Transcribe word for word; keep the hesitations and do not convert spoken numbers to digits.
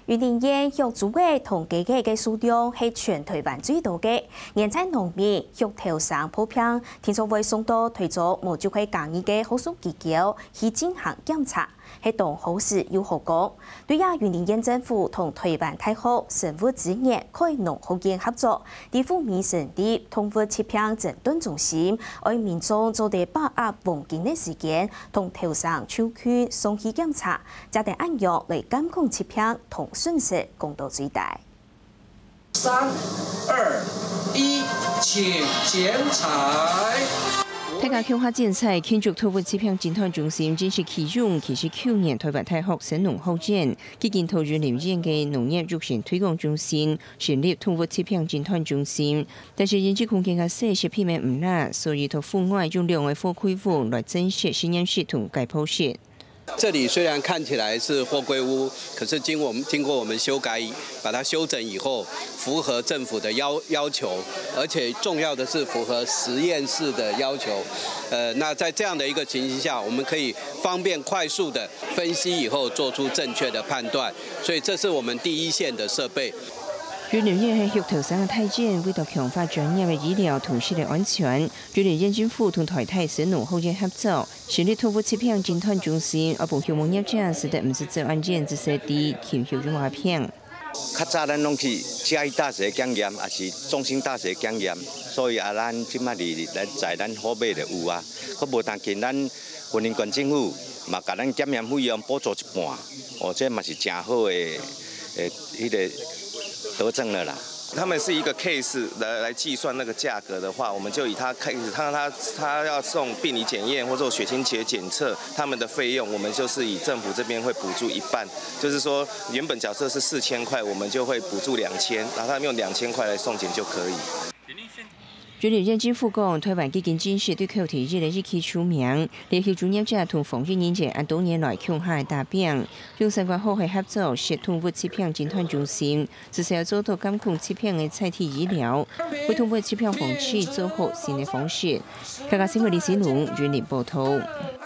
雲林縣畜豬仔同雞仔个數量係全臺灣最多个。現在農民畜頭牲破病，定著會送到臺中無就係嘉義个福壽雞噭去進行檢查，係當好事又好講。對這，雲林縣政府同臺灣大學生物資源開農學院合作，在虎尾成立動物疾病診斷中心，愛民眾做得把握黃金个時間，同頭牲就近送去檢查， 正得恁樣來監控疾病同損失降到最低。三、二、一，請剪綵。大家共下精彩，慶祝動物疾病診斷中心正式啟用。其實舊年臺灣大學生農學院已經在雲林縣个農業育成推廣中心成立動物疾病診斷中心，但是因為空間較細，設備乜毋罅，所以在戶外用兩个貨櫃屋來增設實驗室同解剖室。 這裡雖然看起來是貨櫃屋，可是經過我們經過我們修改，把它修整以後，符合政府的要要求，而且重要的是符合實驗室的要求。呃，那在這樣的一個情形下，我們可以方便快速的分析以後做出正確的判斷，所以這是我們第一線的設備。雲林縣係畜頭牲个大縣，為著強化專業个醫療同食个安全，雲林縣政府同臺大生農學院合作， 成立動物疾病診斷中心，愛分畜牧業者使得毋使走恁遠，至少知禽畜有麼个病。較早咱攏去嘉義大學檢驗，抑是中興大學檢驗，所以啊，咱這馬佇咱在咱虎尾就有啊。閣無要緊，咱雲林縣政府嘛，共咱檢驗費用補助一半，哦，這嘛是真好的，呃，彼个德政了啦。 他們是一個 case 來來計算那個價格的話，我們就以他 case，他他他要送病理檢驗或者血清學檢測，他們的費用我們就是以政府這邊會補助一半，就是說原本假設是四千塊，我們就會補助兩千，然後他們用兩千塊來送檢就可以。雲林縣政府講，臺灣已經正式對口蹄疫个疫區除名，連畜專業者同防疫人員恁多年來共下个打拚，用相關好个合作，設動物疾病診斷中心， 至少做到監控疾病个在地醫療，為動物疾病防治做好新个方式。客家新聞李新龍雲林報導。